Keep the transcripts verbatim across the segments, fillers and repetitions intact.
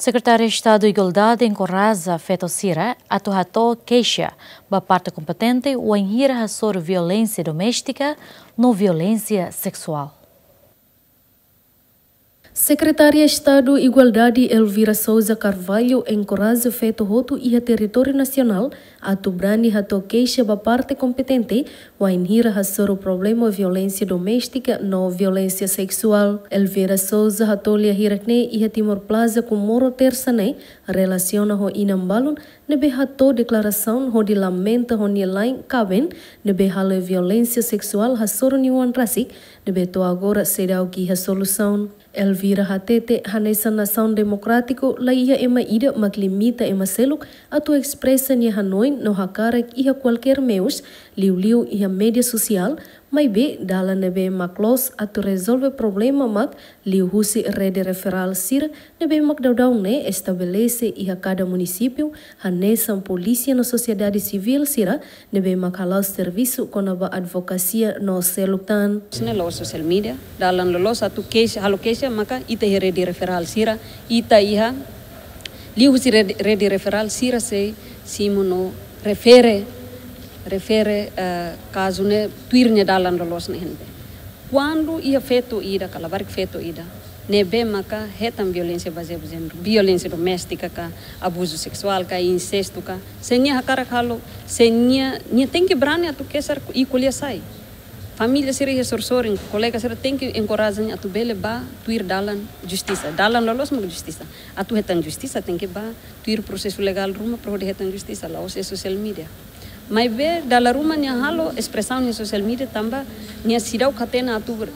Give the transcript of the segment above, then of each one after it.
Sekretária Estadu Igualdade enkoraja feto sira atu hato'o keixa ba parte kompetente wainhira hasoru violénsia doméstika no violénsia seksuál. Sekretária Estadu Igualdade Elvira Sousa Carvalho enkoraja feto hotu iha territóriu nasionál atu brani hato'o keixa ba parte kompetente wainhira hasoru problema violénsia doméstika no violénsia seksuál. Elvira Sousa hato'o lia hirak-ne'e iha Timor Plaza Comoro Tersa ne'e, relasiona ho inan balun ne'ebé hato'o deklarasaun hodi lamenta ho nia la'en kaben ne'ebé halo violénsia seksuál hasoru nia oan rasik, ne'ebé to'o agora seidauk iha solusaun. Elvira hatete, hanesan nasaun demokrátiku, laiha ema ida mak limita ema seluk atu espresa nia hanoin no hakarak iha kualkér meius, liuliu iha média sosiál, maibé dalan ne'ebé mak loos atu rezolve problema mak liuhusi rede referál sira ne'ebé mak daudaun ne'e estabelese iha kada munisípiu, hanesan polísia no sosiedade sivíl sira ne'ebé mak hala'o servisu kona-ba advokasia no seluk tan. Sine la'ós social media, dalan loloos atu keixa, halo keixa maka ita iha rede referál sira, ita iha liuhusi rede, rede referál sira sei simu no refere, refere, eh, kazu ne'e tuir nia dalan loloos ne'e iha ne'ebé. Kuandu iha feto ida, ka labarik feto ida ne'ebé maka hetan violénsia bazeia ba jéneru, violénsia doméstika ka, abuzu seksuál ka, insestu ka, se nia hakarak halo, se nia, nia tenke brani atu kesar i ko'alia sai. Família sira iha sorin-sorin, kolega sira tenke enkoraja nia atu bele ba tuir dalan justisa. Dalan loloos mak justisa. Atu hetan justisa tenke ba tuir prosesu legál ruma para hodi hetan justisa, la'ós iha social media. Maibé dala ruma nia halo espresaun iha social media tanba nia seidauk hatene atu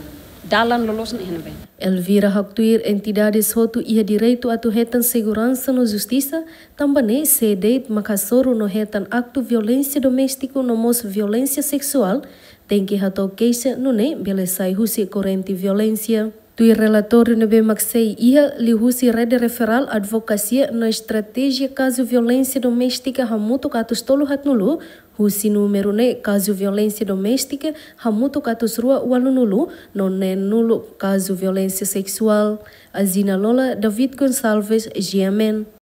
dalan loloos ne'e iha ne'ebé. Elvira haktuir entidades hotu iha direitu atu hetan seguransa no justisa, tanba ne'e sé de'it mak hasoru no hetan aktu violénsia doméstiku no mós violénsia seksuál, tenke hato'o keixa nune'e bele sai husi korrente violénsia. Tuir relatóriu ne'ebé mak sei iha liuhusi rede referál advokasia no estratéjia kazu violénsia doméstika hamutuk atus tolu haatnulu, husi númeru ne'e kazu violénsia doméstika hamutuk atus rua ualunulu, no neenulu kazu violénsia seksuál. Azina Lola, David Gonçalves, G M N.